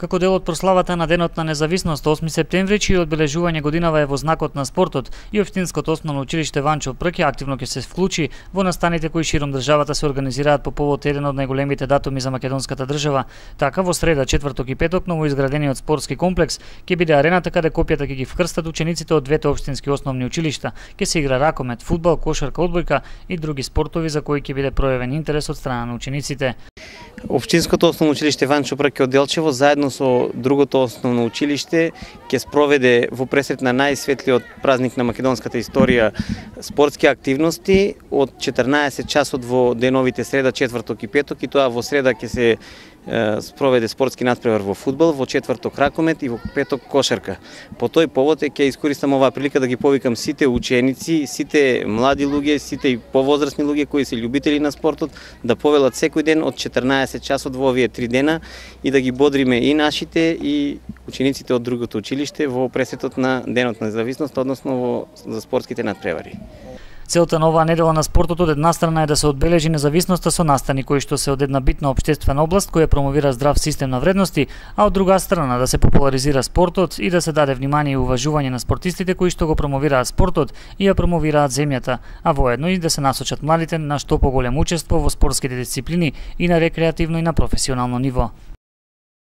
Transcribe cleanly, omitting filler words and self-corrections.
Како дел од прославата на Денот на независност 8 септември, чиј одбележување годинава е во знакот на спортот, и Општинското основно училиште Ванчо Прк активно ќе се вклучи во настаните кои широм државата се организираат по повод еден од најголемите датуми за македонската држава. Така во среда, четврток и петок новоизградениот спортски комплекс ќе биде арената каде копјата ќе ги вкрстат учениците од двете општински основни училишта. Ќе се игра ракомет, фудбал, кошарка, одбојка и други спортови за кои ќе биде пројавен интерес од страна на учениците. Општинското основно училиште Ванчо Прк од Делчево заедно со другото основно училиште ќе спроведе во пресрет на најсветлиот празник на македонската историја спортски активности од 14 часот во деновите среда, четврток и петок, и тоа во среда ќе се спроведе спортски натпревар во фудбал, во четврток ракомет и во петок кошарка. По тој повод ќе искористам оваа прилика да ги повикам сите ученици, сите млади луѓе, сите и повозрасни луѓе кои се љубители на спортот да повелат секој ден од 14 часот во овие 3 дена и да ги бодриме и нашите и учениците од другото училиште во пресетот на Денот на независност, односно за спортските натпревари. Целта на оваа недела на спортот од една страна е да се одбележи независноста со настани кои што се од една битна општествена област која промовира здрав систем на вредности, а од друга страна да се популаризира спортот и да се даде внимание и уважување на спортистите кои што го промовираат спортот и ја промовираат земјата, а воедно и да се насочат младите на што поголемо учество во спортските дисциплини и на рекреативно и на професионално ниво.